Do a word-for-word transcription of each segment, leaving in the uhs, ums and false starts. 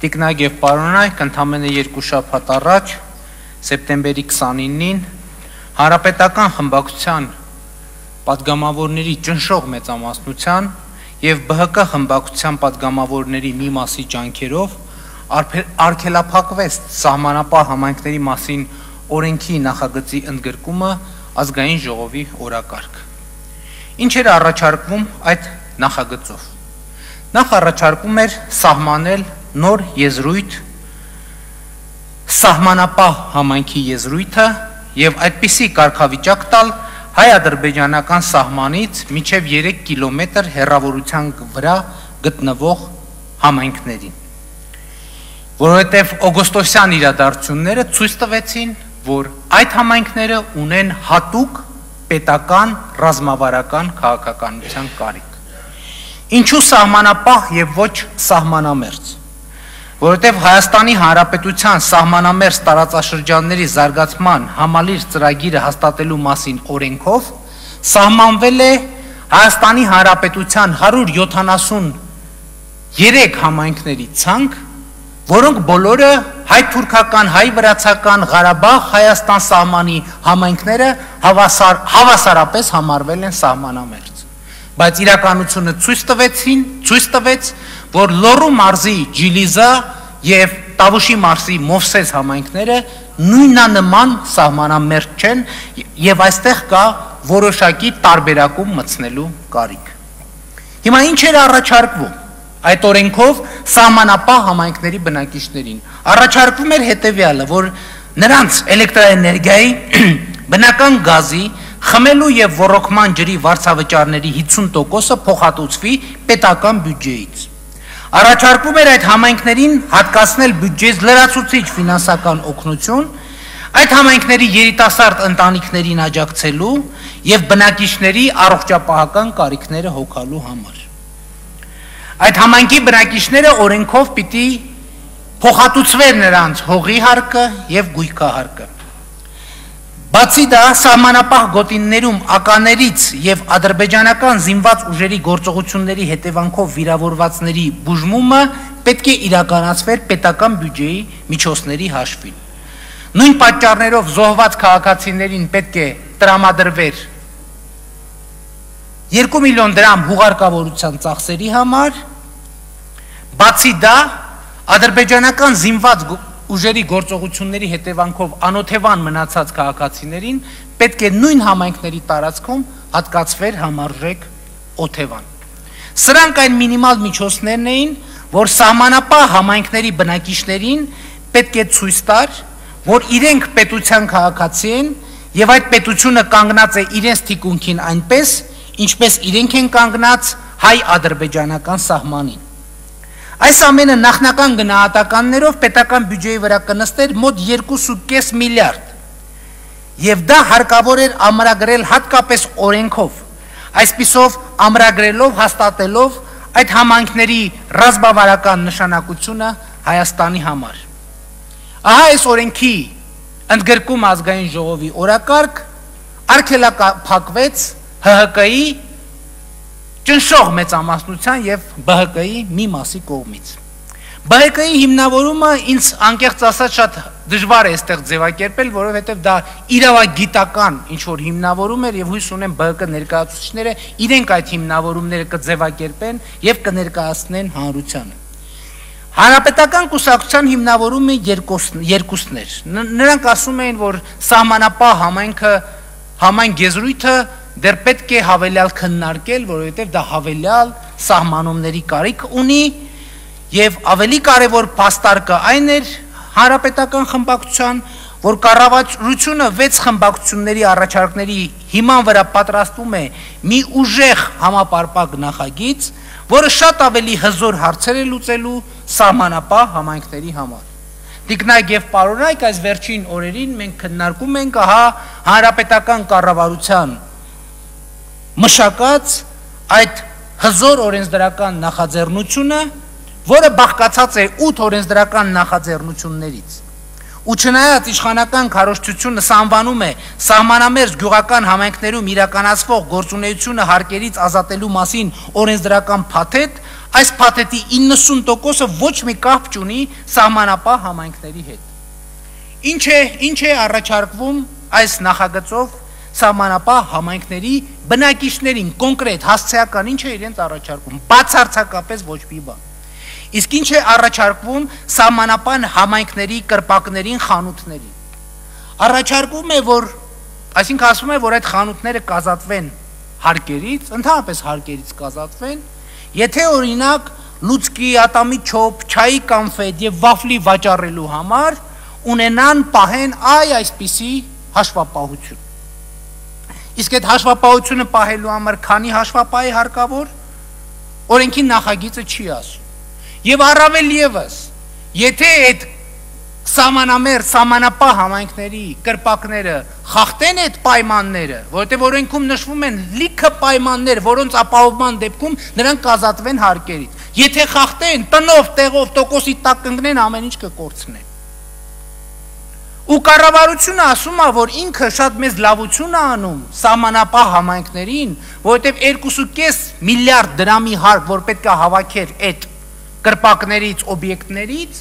Տիկնակ և պարոնայք, ընդամենը երկու շաբաթ առաջ, սեպտեմբերի քսանինին, Հանրապետական խմբակցության պատգամավորների ճնշող մեծամասնության և Բ Հ Կ խմբակցության պատգամավորների մի մասի ջանքերով արգելափակվեց սահմանապահ համայնքների մասին օրենքի նախագծի ընդգրկումը ազգային ժողովի օրակարգ։ Ինչ էր առաջարկվում այդ նախագծով։ Նախ առաջարկում էր սահմանել նոր եզրույթ սահմանապահ համայնքի եզրույթը և այդպիսի կարգավիճակ տալ հայ-ադրբեջանական սահմանից մինչև երեք կիլոմետր հեռավորության վրա գտնվող համայնքներին, որովհետև օգոստոսյան իրադարձությունները ցույց տվեցին, որ այդ համայնքները ունեն հատուկ պետական ռազմավարական քաղաքականության կարիք։ Ինչու սահմանապահ և ոչ սահմանամերձ, որովհետև Հայաստանի Հանրապետության սահմանամերձ տարածաշրջանների զարգացման համալիր ծրագիրը հաստատելու մասին օրենքով սահմանվել է Հայաստանի Հանրապետության հարյուր յոթանասուներեք համայնքների ցանկ, որոնք բոլորը հայ-թուրքական, հայ-վրացական, Ղարաբաղ, Հայաստան սահմանի համայնքները հավասար, հավասարապես համարվել են սահմանամերձ։ Բայց իրականությունը ցույց տվեցին, ցույց տվեց, որ Լոռու մարզի Ջիլիզա և Տավուշի մարզի Մովսես համայնքները նույնանման սահմանամերձ չեն և այստեղ կա որոշակի տարբերակում մտցնելու կարիք։ Հիմա ինչ էր առաջարկվում այդ օրենքով սահմանապահ համայնքների բնակիչներին։ Առաջարկվում էր հետևյալը, որ նրանց էլեկտրաէներգիայի, բնական գազի, խմելու և ոռոգման ջրի վարձավճարների հիսուն տոկոսը փոխհատուցվի պետական բյուջեից։ Առաջարկվում էր այդ համայնքներին հատկացնել բյուջեից լրացուցիչ ֆինանսական օգնություն, այդ համայնքների երիտասարդ ընտանիքներին աջակցելու և բնակիչների առողջապահական կարիքները հոգալու համար։ Այդ համայնքի բնակիչները օրենքով պիտի փոխհատուցվեր նրանց հողի հարկը և գույքահարկը։ Բացի դա, սահմանապահ գոտիներում ականերից և ադրբեջանական զինված ուժերի գործողությունների հետևանքով վիրավորվածների բուժումը պետք է իրականացվեր պետական բյուջեի միջոցների հաշվին։ Նույն պատճառներով զոհված քաղաքացիներին պետք է տրամադրվեր երկու միլիոն դրամ հուղարկավորության ծախսերի համար։ Բացի դա, ադրբեջանական զինված ուժերի գործողությունների հետևանքով անօթևան մնացած քաղաքացիներին պետք է նույն համայնքների տարածքում հատկացվեր համարժեք օթևան։ Սրանք այն մինիմալ միջոցներն էին, որ սահմանապահ համայնքների բնակիչներին պետք է ցույց տար, որ իրենք պետության քաղաքացի են և այդ պետությունը կանգնած է իրենց թիկունքին այնպես, ինչպես իրենք են կանգնած հայ-ադրբեջանական սահմանին։ Այս ամենը նախնական գնահատականներով պետական բյուջեի վրա կնստեր մոտ երկու կես միլիարդ և դա հարկավոր էր ամրագրել հատկապես օրենքով, այսպիսով ամրագրելով, հաստատելով այդ համայնքների ռազմավարական նշանակությունը Հայաստանի համար։ Ահա այս օրենքի ընդգրկում ազգային ժողովի օրակարգ արգելափակվեց Հ Հ Կի ճնշող մեծամասնության և Բ Հ Կի մի մասի կողմից։ Բ Հ Կի հիմնավորումը ինձ անկեղծ ասած շատ դժվար է այստեղ ձևակերպել, որովհետև դա իրավագիտական ինչ-որ հիմնավորում էր և հույս ունեմ Բ Հ Կ ներկայացուցիչները իրենք այդ հիմնավորումները կձևակերպեն և կներկայացնեն հանրությանը։ Հանրապետական կուսակցության հիմնավորումը երկուսն էր։ Նրանք ասում էին, որ սահմանապահ համայնքը, համայն եզրույթը դեռ պետք է հավելյալ քննարկել, որովհետև դա հավելյալ սահմանումների կարիք ունի և ավելի կարևոր փաստարկը այն էր հանրապետական խմբակցության, որ կառավարությունը վեց խմբակցությունների առաջարկների հիման վրա պատրաստում է մի ուժեղ համապարփակ նախագիծ, որը շատ ավելի հզոր հարցեր է լուծելու սահմանապահ համայնքների համար։ Տիկնակ և պարոնայք, այս վերջին օրերին մենք քննարկում ենք ահա հանրապետական կառավարության մշակած այդ հզոր օրենսդրական նախաձեռնությունը, որը բաղկացած է ութ օրենսդրական նախաձեռնություններից։ Ու չնայած իշխանական քարոզչությունը սանվանում է սահմանամերձ գյուղական համայնքներում իրականացվող գործունեությունը հարկերից ազատելու մասին օրենսդրական փաթեթ, այս փաթեթի իննսուն տոկոսը ոչ մի կապ չունի սահմանապահ համայնքների հետ։ Ինչ է, ինչ է առաջարկվում այս նախագծով սահմանապահ համայնքների բնակիչներին կոնկրետ հասցեական ինչ է իրենց առաջարկում, բացարձակապես ոչ մի բան։ Իսկ ինչ է առաջարկվում սահմանապահ համայնքների կրպակներին, խանութներին։ Առաջարկվում է, որ, այսինքն ասվում է, որ այդ խանութները կազատվեն հարկերից, ընդհանրապես հարկերից կազատվեն, եթե օրինակ լուծկի, ատամի չոփ, չայի կոնֆետ եւ վաֆլի վաճառելու համար ունենան պահեն այ այսպիսի հաշվապահություն։ Իսկ այդ հաշվապահությունը պահելու համար քանի հաշվապահ է հարկավոր, օրենքի նախագիծը չի ասում։ Եվ առավել ևս, եթե այդ սահմանամեր, սահմանապահ համայնքների կրպակները խախտեն այդ պայմանները, որովհետև օրենքում նշվում են լիքը պայմաններ, որոնց ապահովման դեպքում նրանք կազատվեն հարկերից։ Եթե խախտեն, տնով, տեղով, տոկոսի տակ կընկնեն, ամեն ինչ կկորցնեն։ Ու կառավարությունը ասում է, որ ինքը շատ մեծ լավություն է անում սահմանապահ համայնքներին, որովհետև երկու կես միլիարդ դրամի հարկ, որ պետք է հավաքեր այդ կրպակներից, օբյեկտներից,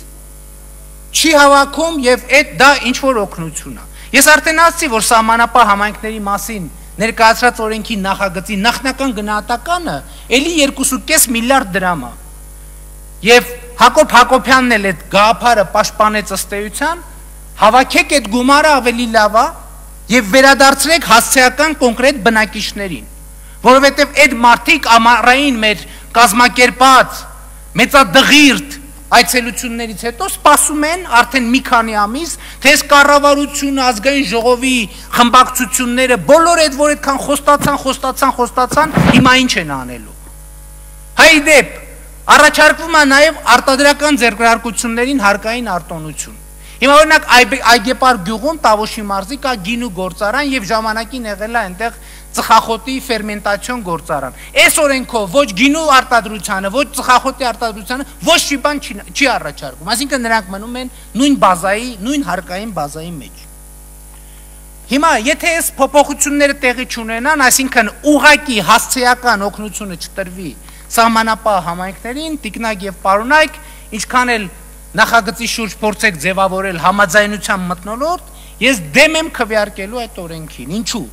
չի հավաքում եւ այդ դա ինչ որ օգնություն է։ Ես արդեն ասացի, որ սահմանապահ համայնքների մասին ներկայացրած օրենքի նախագծի նախնական գնահատականը էլի երկու կես միլիարդ դրամ է։ Եվ Հակոբ Հակոբյանն էլ այդ գաղափարը պաշտպանեց ըստ էության, հավաքեք այդ գումարը ավելի լավ է եւ վերադարձրեք հասցեական կոնկրետ բնակիչներին, որովհետեւ այդ մարդիկ ամառային մեր կազմակերպած մեծադղիրդ այցելություններից հետո սպասում են արդեն մի քանի ամիս, թե այս կառավարությունը, ազգային ժողովի խմբակցությունները բոլոր այդ որ այդքան խոստացան, խոստացան, խոստացան, հիմա ինչ են անելու։ Հայ դեպ առաջարկվում է նաև արտադրական ձեռքբերություններին հարկային արտոնություն։ Հիմա օրինակ Այգեպար գյուղում Տավոշի մարզի կա գինու գործարան եւ ժամանակին եղել է այնտեղ ծխախոտի ֆերմենտացիոն գործարան։ Այս օրենքով ոչ գինու արտադրությանը, ոչ ծխախոտի արտադրությանը ոչ մի բան չի առաջարկում։ Այսինքն նրանք մնում են նույն բազայի, նույն հարկային բազայի մեջ։ Հիմա եթե այս փոփոխությունները տեղի չունենան, այսինքն ուղղակի հասցեական օգնությունը չտրվի սահմանապահ համայնքներին, տիկնակ եւ պարոնայք, ինչքան էլ նախագծի շուրջ փորձեք ձևավորել համաձայնության մթնոլորտ, ես դեմ եմ քվեարկելու այդ օրենքին։ Ինչու՞։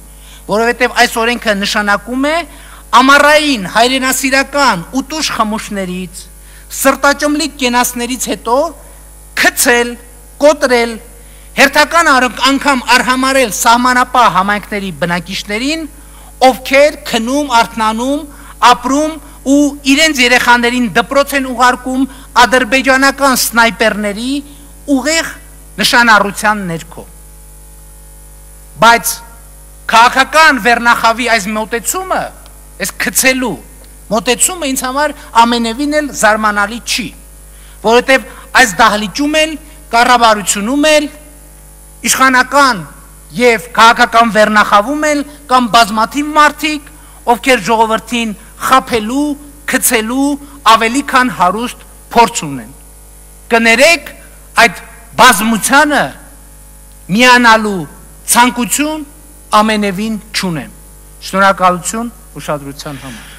Որովհետև այս օրենքը նշանակում է ամառային հայրենասիրական ուտուշ խմուշներից, սրտաճմլիկ կենացներից հետո քցել, կոտրել, հերթական անգամ արհամարել սահմանապահ համայնքների բնակիչներին, ովքեր քնում, արթնանում, ապրում ու իրենց երեխաներին դպրոց են ուղարկում ադրբեջանական սնայպերների ուղիղ նշանառության ներքո։ Բայց քաղաքական վերնախավի այս մոտեցումը, այս քցելու մոտեցումը ինձ համար ամենևին էլ զարմանալի չի, որովհետև այս դահլիճում էլ, կառավարությունում էլ, իշխանական եւ քաղաքական վերնախավում էլ կամ բազմաթիվ մարդիկ, ովքեր ժողովրդին խաբելու, քցելու ավելի քան հարուստ փորձ ունեն։ Կներեք, այդ բազմությանը միանալու ցանկություն ամենևին չունեմ։ Շնորհակալություն ուշադրության համար։